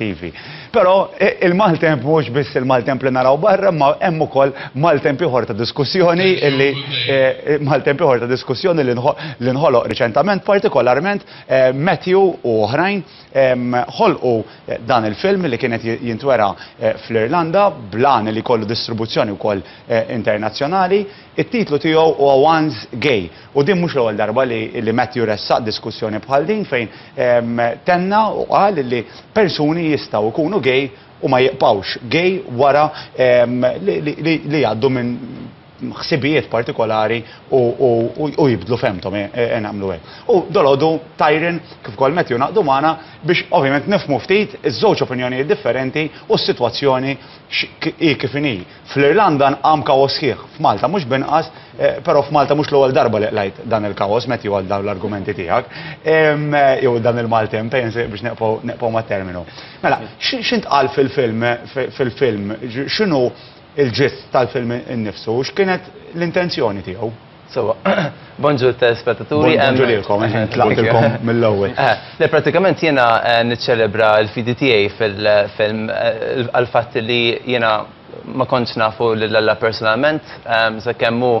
Ivi. Però il-maltemp mhux biss il-maltemp li naraw barra, ma hemm ukoll maltemp ieħor ta' diskussjoni li maltemp ieħor ta' diskussjoni li nħoloq riċentament, partikolarment Matthew u oħrajn ħolqu dan il-film li kienet jintwera fl-Irlanda blan li jkollu distribuzzjoni wkoll internazzjonali. It-titlu tiegħu huwa Once Gay. U din mhux l-ewwel darba li li Matthew ressaq diskussjoni bħal din fejn tenna u qal li persuni jistgħu jkunu gay u ma jibqgħux gay wara li li jgħaddu minn ħsibijiet partikolari u u jibdlu fehmthom nagħmlu hekk. U dalgħodu Tyron kif ukoll Matthew ngħaqdu magħna biex ovvjament nifhmu ftit iż-żewġ opinjonijiet differenti u s-sitwazzjoni hi kif inhi. Fl-Irlanda nqam kaos sħiħ, f'Malta mhux b'inqas, però f'Malta mhux l-ewwel darba li qlajt dan il-kaos, Matthew għal dawn l-argumenti tiegħek, jew dan il-maltemp, biex neqpgħu mat-terminu. Mela, x'intqal fil-film, fil-film, x'inhu l-ġist tal-film innifsu, x'kienet l-intenzjoni tiegħu? Sewwa. Bonġur telespettaturi. Bonġur lilkom, tlaqtilkom mill-ewwel. Le pratikament jiena niċċelebra l-fidi tiegħi fil-film għall-fatt li jiena ma kontx nafu lil Alla personalment, sakemm hu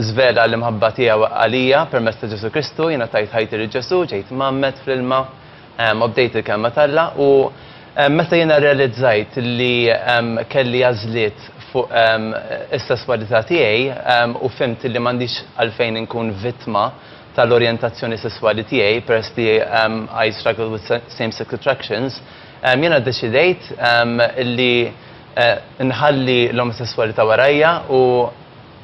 żvela l-imħabba tiegħu għalija permezz ta' Ġesù Kristu, jiena tajt ħajti lil Ġesù, ġejt mgħammed fl-ilma, Obdejt il-kelma t'Alla u meta jiena rrealizzajt li kelli għażliet fuq is-sesswalità tiegħi u fhimt li m'għandix għalfejn inkun vittma tal-orjentazzjoni sesswali tiegħi peress li I struggle with same sex attractions, jiena ddeċidejt li nħalli l-omosesswalità warajja u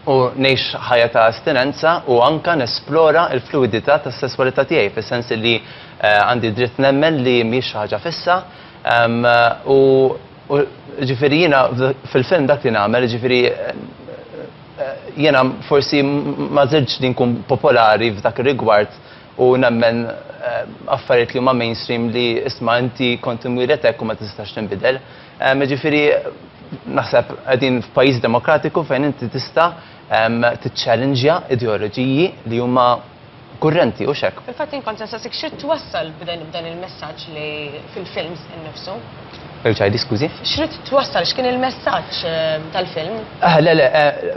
u ngħix ħajja ta' astinenza u anke nesplora l-fluwidità tas-sesswalità tiegħi fis-sens li għandi dritt nemmen li mhijiex xi ħaġa fissa u ġifieri jiena fil-film dak li nagħmel ġifieri jiena forsi ma żiltx li nkun popolari f'dak ir-rigward u nemmen affarijiet li huma mainstream li isma' inti kont imwieled hekk u ma tistax tinbidel. Jiġifieri naħseb qegħdin f'pajjiż demokratiku fejn inti tista' tiċċellinġja ideoloġiji li huma kurrenti, hux hekk? Fil-fatt jien kont se nsaqsik x'ridt twassal b'dan il-messaġġ li fil-films innifsu? Erġa' għidi, skużi. X'ridt twassal, x'kien il-messaġġ tal-film? Le, le,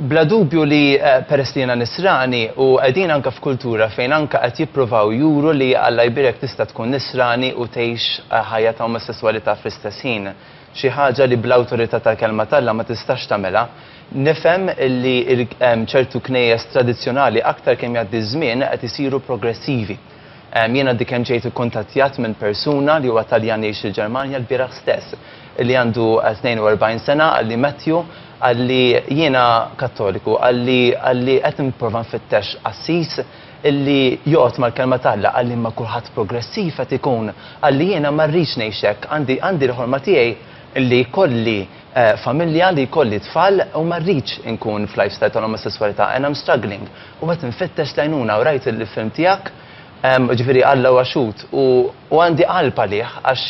bla dubju li peress li jiena Nisrani u qegħdin anke f'kultura fejn anke qed jippruvaw juru li Alla jbierek tista' tkun Nisrani u tgħix ħajja ta' omosesswalità fl-istess ħin. Xi ħaġa li bl-awtorità tal-Kelma t'Alla ma tistax tagħmilha. Nifhem li ċertu knejjes tradizzjonali aktar kemm jgħaddi ż-żmien qed isiru progressivi. Jien għaddi kemm ġejt ikkuntattjat minn persuna li huwa Taljan jgħix il-Ġermanja lbieraħ stess li għandu 42 sena qalli Matthew qalli jiena Kattoliku qalli qalli qed nipprova nfittex qassis illi joqgħod mal-Kelma t'Alla, qalli imma kulħadd progressiv qed ikun, qalli jiena ma rridx ngħix hekk, għandi għandi l-ħolma tiegħi li jkolli familja, li jkolli tfal u ma rridx inkun f'lifestyle tal-omosesswalità and I'm struggling u qed infittex l-għajnuna u rajt il-film tiegħek, jiġifieri Alla huwa xhud u u għandi qalb għalih għax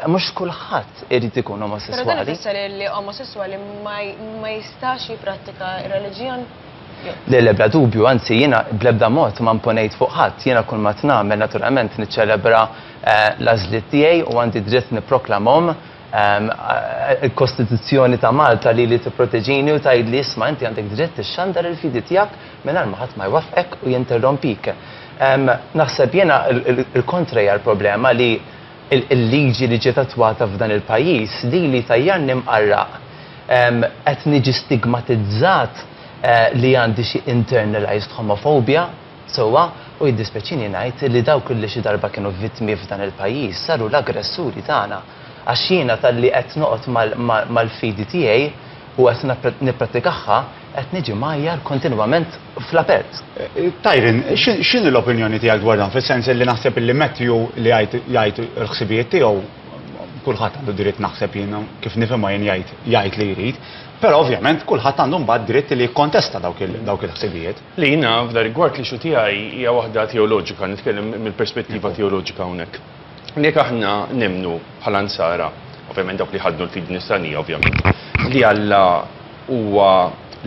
mhux kulħadd irid ikun omosesswali. Però dan ifisser li omosesswali ma jistax jipprattika r-reliġjon? Le, le, bla dubju, anzi jiena bl-ebda mod ma mponejt fuq ħadd, jiena kull ma qed nagħmel naturalment niċċelebra l-għażliet tiegħi u għandi dritt nipproklamhom. Il-Kostituzzjoni ta' Malta lili tipproteġini u tgħidli isma' inti għandek dritt ixxandar il-fidi tiegħek mingħajr ma ħadd ma jwaffqek u jinterrompik. Naħseb jiena l-kontra hija l-problema li il-liġi li ġiet attwata f'dan il-pajjiż lili tajjarni mqarraq. Qed niġi stigmatizzat li għandi xi internalized homophobia, sewwa, u jiddispjaċini ngħid li dawk li xi darba kienu vittmi f'dan il-pajjiż saru l-aggressuri tagħna. Għax jiena talli qed noqgħod mal-fidi tiegħi u qed nipprattikaha, qed niġi mgħajjar kontinwament fl-apert. Tyron, x'inhi l-opinjoni tiegħek dwar dan? Fis-sens li naħseb li Matthew li jgħid il-ħsibijiet tiegħu, kulħadd għandu dritt naħseb jien kif nifhimha jien jgħid jgħid li jrid, però ovvjament kulħadd għandu mbagħad dritt li jikkontesta dawk il-ħsibijiet. Li jiena f'dan rigward l-issue tiegħi hija waħda teoloġika, nitkellem mill-perspettiva teoloġika hawnhekk. Jekk aħna nemmnu bħala Nsara, ovvjament dawk li jħaddnu l-fidi Nisranija ovvjament, li Alla huwa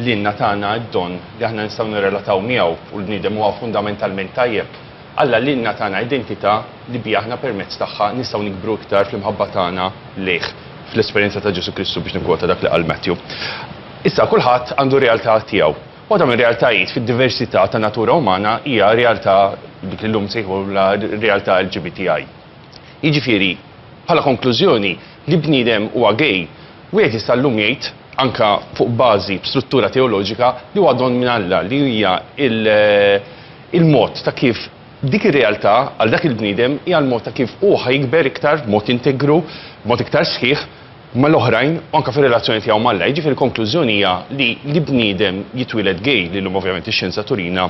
lilna tana d-don li aħna nistgħu nirrelataw miegħu u l-bniedem huwa fundamentalment tajjeb. Alla lilna tana identità li biha aħna permezz tagħha nistgħu nikbru iktar fl-imħabba tagħna lejh, fl-esperjenza ta' Ġesù Kristu biex nikkwota dak li qal Matthew. Issa kulħadd għandu realtà tiegħu. Waħda mir-realtajiet fid-diversità ta' natura umana hija realtà dik li llum nsejħulha realtà LGBTI. Jiġifieri, bħala konklużjoni, li bniedem huwa gay, wieħed jista' llum jgħid, anke fuq bażi b'struttura teoloġika, li huwa don minn Alla, li hija il-mod ta' kif dik ir-realtà għal dak il-bniedem hija l-mod ta' kif hu ħa jikber iktar b'mod integru, b'mod iktar sħiħ mal-oħrajn u anke fir-relazzjoni tiegħu m'Alla. Jiġifieri l-konklużjoni hija li li bniedem jitwieled gay, li llum ovvjament ix-xjenza turina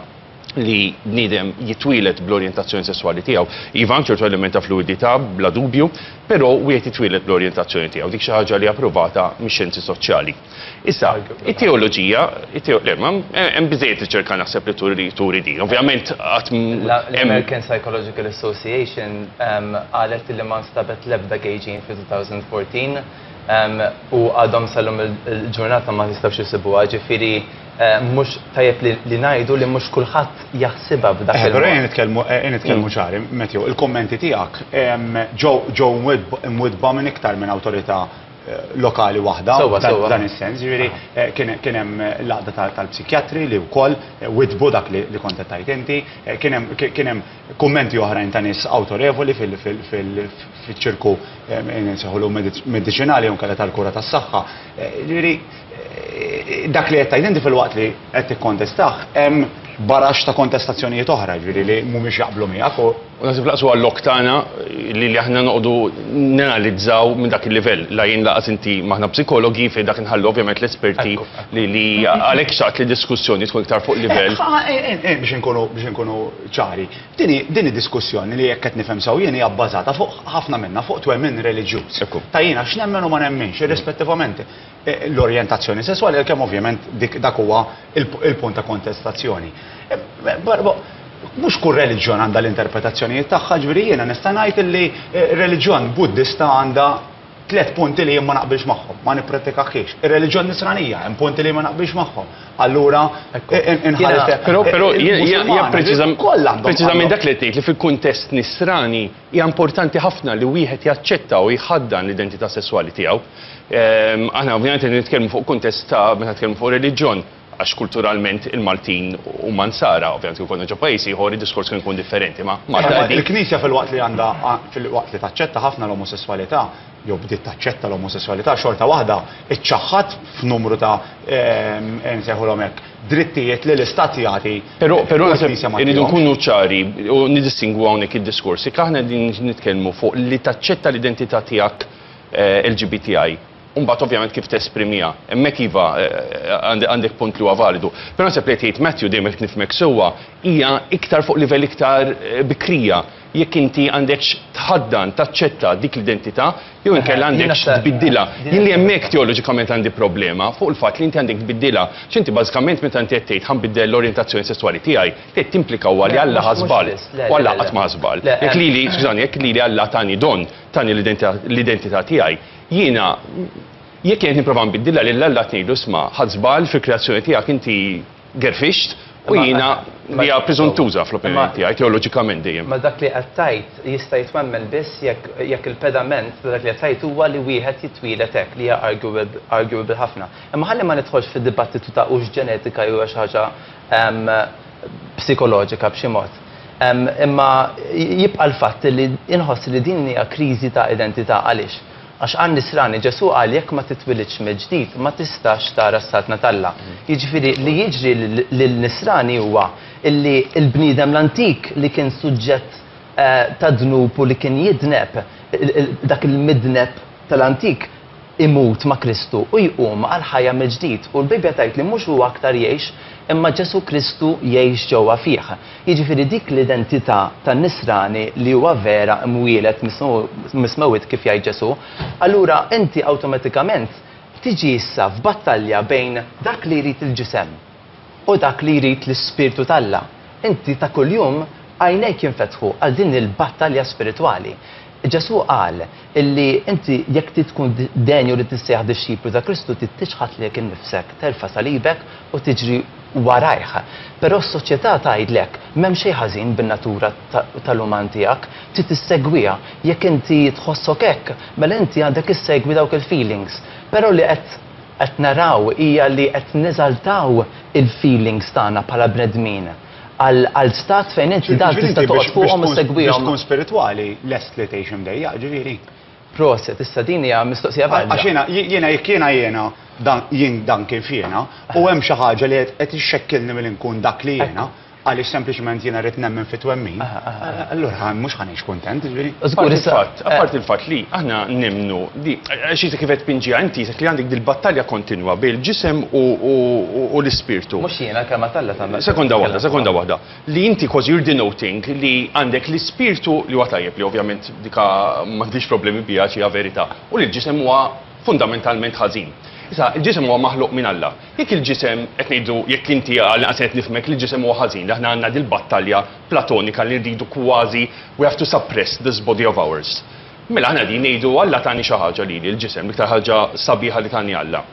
li bniedem jitwieled bl-orjentazzjoni sesswali tiegħu. Iva hemm ċertu element ta' fluwidità bla dubju, però wieħed jitwieled bl-orjentazzjoni tiegħu. Dik xi ħaġa li hija ppruvata mix-xjenzi soċjali. Issa, it-teoloġija, le, ma hemm biżejjed riċerka naħseb li turi turi din. Ovvjament qatt L-American Psychological Association qalet li ma nstabet l-ebda gay gene fi 2014 u għadhom sal-lum il-ġurnata ma jistgħux jisibuha, ġifieri mhux tajjeb li ngħidu li mhux kulħadd jaħsibha b'dak il-mod. Però ejja nitkellmu ejja nitkellmu ċari, Matthew, il-kummenti tiegħek ġew imwiddba minn iktar minn awtorità lokali waħda f'dan is-sens, jiġifieri kien hemm l-għaqda tal-psikjatri li wkoll widdbu dak li kont qed tgħid inti, kien hemm kummenti oħrajn ta' nies awtorevoli fiċ-ċirku nsejħulu mediċinali jew inkella tal-kura tas-saħħa. Jiġifieri dak li qed tgħid inti filwaqt li qed tikkontestah hemm baraxx ta' kontestazzjonijiet oħra, jiġifieri li mhumiex jaqblu miegħek u U naħseb laqas huwa l-lok tagħna li li aħna noqogħdu nanalizzaw minn dak il-livell. La jien laqas inti m'aħna psikologi fejn dak inħallu ovvjament l-esperti li li għalhekk xtaqt li diskussjoni tkun iktar fuq livell. Biex inkunu biex inkunu ċari, din id-diskussjoni li jekk qed nifhem sew jien hija bbażata fuq ħafna minnha fuq twemmin reliġjuż. Ta' jiena x'nemmen u ma nemminx, irrispettivament l-orjentazzjoni sesswali, għalkemm ovvjament dik dak huwa il-punt ta' kontestazzjoni. Mhux kull reliġjon għandha l-interpretazzjonijiet tagħha, ġifieri jiena nista' ngħid illi reliġjon Buddista għandha tlett punti li jien ma naqbilx magħhom, ma nipprattikahiex. Ir-reliġjon Nisranija hemm punti li ma naqbilx magħhom. Allura inħares. Però però hija preċiżament dak li qed ngħid li fil-kuntest Nisrani Hija importanti ħafna li wieħed jaċċetta u jħaddan l-identità sesswali tiegħu. Aħna ovvjament qed nitkellmu fuq kuntest ta' meta nitkellmu fuq reliġjon, għax kulturalment il-Maltin huma Nsara, ovvjament kieku konna ġo pajjiż ieħor id-diskors kien ikun differenti, ma Malta qegħdin. Il-Knisja filwaqt li għandha filwaqt li taċċetta ħafna l-omosesswalità, jew bdiet taċċetta l-omosesswalità, xorta waħda iċċaħħad f'numru ta' nsejħulhom hekk, drittijiet li l-Istat jagħti Però però naħseb irridu nkunu ċari u nidistingwu hawnhekk id-diskors. Jekk aħna qegħdin nitkellmu fuq li taċċetta l-identità tiegħek LGBTI, u mbagħad ovvjament kif tesprimiha. Hemmhekk iva għandek punt li huwa validu. Però naħseb li qed jgħid Matthew dejjem jekk nifhmek sewwa hija iktar fuq livell iktar bikrija. Jekk inti għandekx tħaddan, taċċetta dik l-identità, jew inkella għandekx tbiddilha. Jien li hemmhekk teoloġikament għandi problema fuq il-fatt li inti għandek tbiddilha. X'inti bażikament meta inti qed tgħid ħa nbiddel l-orjentazzjoni sesswali tiegħi, qed timplika huwa li Alla ħa żball. U Alla qatt ma ħa żball. Jekk lili, skużani, jekk lili Alla tani don, tani l-identità tiegħi, jiena jekk jien qed nipprova nbiddilha lil Alla qed ngħidlu isma' ħadt żball fil-kreazzjoni tiegħek inti gerfixt u jiena li hija preżuntuża fl-opinjoni tiegħi teoloġikament dejjem. Ma dak li qed tgħid jista' jitwemmen biss jekk jekk il-pedament ta' dak li qed tgħid huwa li wieħed jitwieled hekk li hija arguable ħafna. Imma ħalli ma nidħolx fid-dibattitu ta' hux ġenetika jew xi ħaġa psikoloġika b'xi mod. Imma jibqa' l-fatt li inħoss li din hija kriżi ta' identità għaliex? Għax għan-Nisrani Ġesù qal jekk ma titwilidx mill-ġdid ma tistax tara s-Saltna t'Alla. Jiġifieri li jiġri lil Nisrani huwa illi l-bniedem l-antik li kien suġġett tad-dnub u li kien jidneb, dak il-midneb tal-antik imut ma' Kristu u jqum għall-ħajja mill-ġdid. U l-Bibbja tgħid li mhux hu aktar jgħix imma Ġesù Kristu jgħix ġewwa fih. Jiġifieri dik l-identità tan-Nisrani li huwa vera mwieled mis-smewwiet kif jgħid Ġesù, allura inti awtomatikament tiġi issa f'battalja bejn dak li jrid il-ġisem u dak li jrid l-Ispirtu t'Alla. Inti ta' kuljum għajnejk jinfetħu għal din il-battalja spiritwali. Ġesù qal illi inti jekk trid tkun denju li tissejjaħ dixxiplu ta' Kristu trid tiċħad lilek innifsek, terfa' salibek u tiġri warajh. Però s-soċjetà tgħidlek m'hemm xejn ħażin bin-natura tal-uman tiegħek, trid issegwiha. Jekk inti tħossok hekk, mela inti għandek issegwi dawk il-feelings. Però li qed qed naraw hija li qed neżaltaw il-feelings tagħna bħala bnedmin għal stat fejn inti dan tista' toqgħod fuqhom u ssegwihom. Biex tkun spiritwali lest li tgħix imdejjaq, ġifieri? Proset, issa din hija mistoqsija valida. Għax jiena, jiena jekk jiena jiena dan jien dan kif jiena u hemm xi ħaġa li qed ixxekkilni milli nkun dak li jiena, għaliex sempliċement jiena rrid nemmen fit-twemmin, allura mhux ħa ngħix kuntent, jiġifieri. Żgur, issa. Apparti il-fatt li aħna nemmnu li, għax qisek kif qed tpinġiha inti qisek li għandek dil-battalja kontinwa bejn il-ġisem u l-ispirtu. Mhux jiena, l-kelma t'Alla tagħmel. Sekonda waħda, sekonda waħda. Li inti kważi you're denoting li għandek l-ispirtu li huwa tajjeb li ovvjament dika m'għandix problemi biha għax hija verità, u li l-ġisem huwa fundamentalment ħażin. Issa, il-ġisem huwa maħluq minn Alla. Jekk il-ġisem, qed ngħidu, jekk inti għall-inqas qed nifhmek li l-ġisem huwa ħażin, li aħna għandna dil-battalja platonika li rridu kważi we have to suppress this body of ours. Mela aħna qegħdin ngħidu Alla tani xi ħaġa lili, l-ġisem, l-iktar ħaġa sabiħa li tani Alla,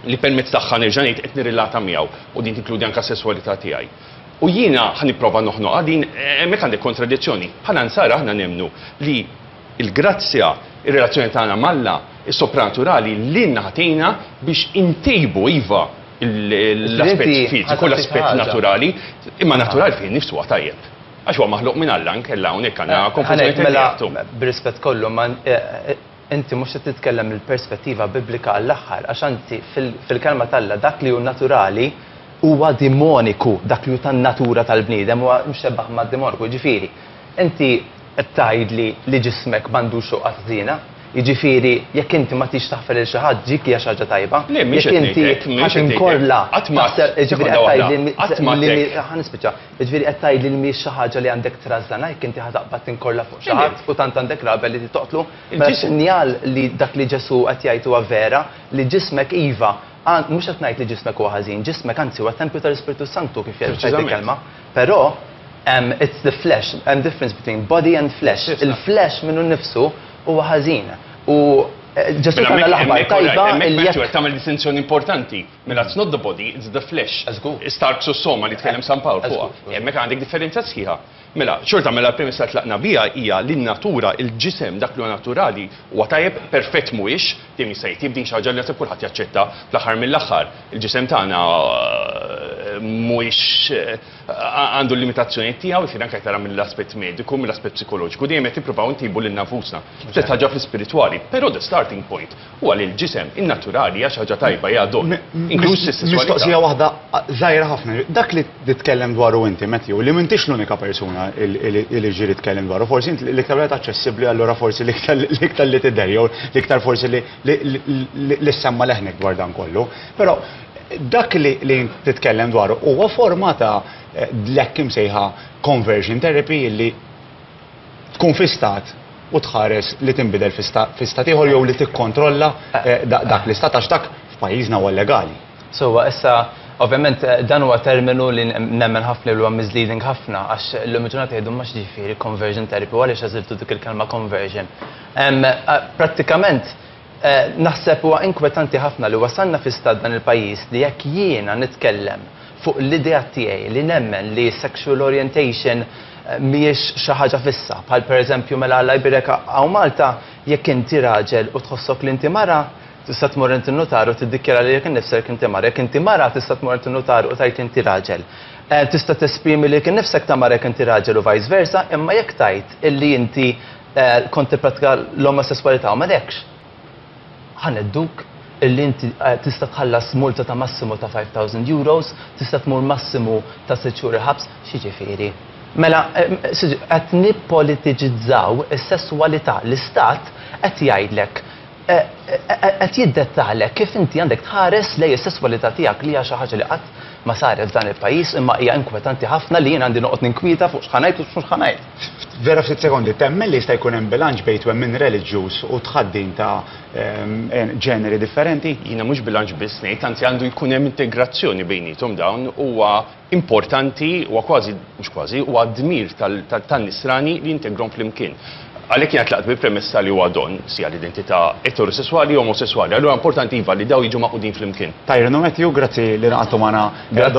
li permezz tagħha nerġa' ngħid qed nirrilata miegħu u din tinkludi anke s-sesswalità tiegħi. U jiena ħa nipprova noħnoqha din, hemmhekk għandek kontradizzjoni. Bħala Nsara aħna nemmnu li Il-grazzja, ir-relazzjoni tagħna m'Alla, is-sopranaturali lilna ħa tgħinna biex intejbu, iva, l-aspett fiżiku, l-aspett naturali, imma naturali fih innifsu huwa tajjeb. Għax huwa maħluq minn Alla, inkella hawnhekk għandna konfużjoni Mela, bir-rispett kollu, ma inti mhux qed titkellem mill-perspettiva biblika għall-aħħar, għax anzi fil-kelma t'Alla dak li hu naturali huwa dimoniku, dak li hu tan-natura tal-bniedem huwa mxebbaħ mad-dimoniku, jiġifieri, inti Qed tgħidli li ġismek m'għandux xoqqa ħżiena? Jiġifieri, jekk inti ma tridx taħfer lil xi ħadd, dik hija xi ħaġa tajba? Le, mhix Jekk qed inti ngħid hekk, ħa mhix qed ngħid hekk. tinkorla, Qatt ma taħseb, jiġifieri sekonda qed waħda, tgħidli qatt ma li għedt hekk. ħa nispiċċa. Jiġifieri qed tgħidli li mhijiex xi ħaġa li għandek trażżanha jekk inti ħa taqbad tinkorla fuq xi Le, le. ħadd u tant għandek rabja li trid toqtlu? Mela Il-ġisem. sinjal li dak li Ġesù qed jgħid huwa vera, li ġismek iva, mhux qed ngħid li ġismek huwa ħażin, ġismek anzi huwa tempju tal-Ispirtu s-Santu kif jgħid Preċiżament. il-kelma. Però it's the flesh, hemm difference between body and flesh. Il-flesh minnu nnifsu huwa ħażin. U Ġesù Mela tana l-aħbar tajba li jekk. Tagħmel distinzjoni importanti. Mela it's not the body, it's the flesh. Żgur. Is-sarx u s-soma li tkellem San Pawl fuqha. Hemmhekk għandek differenza sħiħa. Mela, xorta mela l-premessa li tlaqna biha hija li n-natura, il-ġisem, dak li huwa naturali, huwa tajjeb, perfett mhuwiex, dejjem jista' jitjieb, din xi ħaġa li naħseb kulħadd jaċċetta fl-aħħar mill-aħħar. Il-ġisem tagħna mhuwiex għandu l-limitazzjonijiet tiegħu, jiġifieri anke tara mill-aspett mediku, mill-aspett psikoloġiku, dejjem qed nippruvaw intejbu lilna nfusna. Stess ħaġa fl-ispiritwali, però the starting point huwa li l-ġisem innaturali hija xi ħaġa tajba, hija don, inkluż is-sesswalità. Mistoqsija waħda żgħira ħafna. Dak li titkellem dwaru inti, Matthew, li m'intix l-unika persuna li ġieli tkellem dwaru, forsi inti l-iktar wieħed aċċessibbli allura forsi l-iktar li tidher jew l-iktar forsi li ssemma leħnek dwar dan kollu. Però dak li int titkellem dwaru huwa forma ta' l-hekk imsejħa conversion therapy li tkun fi stat u tħares li tinbidel fi stat ieħor jew li tikkontrolla dak l-istat għax dak f'pajjiżna huwa llegali. Sewwa, issa ovvjament dan huwa terminu li nemmen ħafna li huwa misleading ħafna għax illum il-ġurnata jgħidu ma x'ġifieri conversion therapy u għaliex għażiltu dik il-kelma conversion. Prattikament Naħseb huwa inkwetanti ħafna li wasalna fi stat dan il-pajjiż li jekk jiena nitkellem fuq l-ideat tiegħi li nemmen li sexual orientation mhijiex xi ħaġa fissa, bħal pereżempju mela Alla jbierek hawn Malta jekk inti raġel u tħossok li inti mara, tista' tmur għand in-nutar u tiddikjara lilek innifsek inti mara, jekk inti mara tista' tmur għand in-nutar u tgħid li inti raġel. Tista' tesprimi lilek innifsek ta' mara jekk inti raġel u vice versa, imma jekk tgħid illi inti Kont tippratika l-omosesswalità u m'għadekx, ħa ngħedduk illi inti tista' tħallas multa ta' massimu ta' 5,000 euros, tista' tmur massimu ta' sitt xhur il-ħabs, x'jiġifieri? Mela, qed nippolitiċizzaw is-sesswalità, l-istat qed jgħidlek, qed jiddettalek kif inti għandek tħares lejn is-sesswalità tiegħek li hija xi ħaġa li qatt ma saret f'dan il-pajjiż imma hija inkwetanti ħafna li jien għandi noqgħod ninkwieta fuq x'ħa ngħid u x'mhux ħa ngħid. Vera ftit sekondi, temmen li jista' jkun hemm bilanċ bejn twemmin reliġjuż u tħaddin ta' ġeneri differenti? Jiena mhux bilanċ biss ngħid, anzi għandu jkun hemm integrazzjoni bejniethom dawn, huwa importanti, huwa kważi, mhux kważi, huwa dmir tan-nisrani li jintegrahom flimkien. Għalhekk jiena tlaqt bil-premessa li huwa don, sia l-identità eterosesswali jew omosesswali. Allura importanti iva li dawn jiġu magħqudin flimkien. Tyron u Matthew, grazzi li ngħaqadtu magħna Grazzi.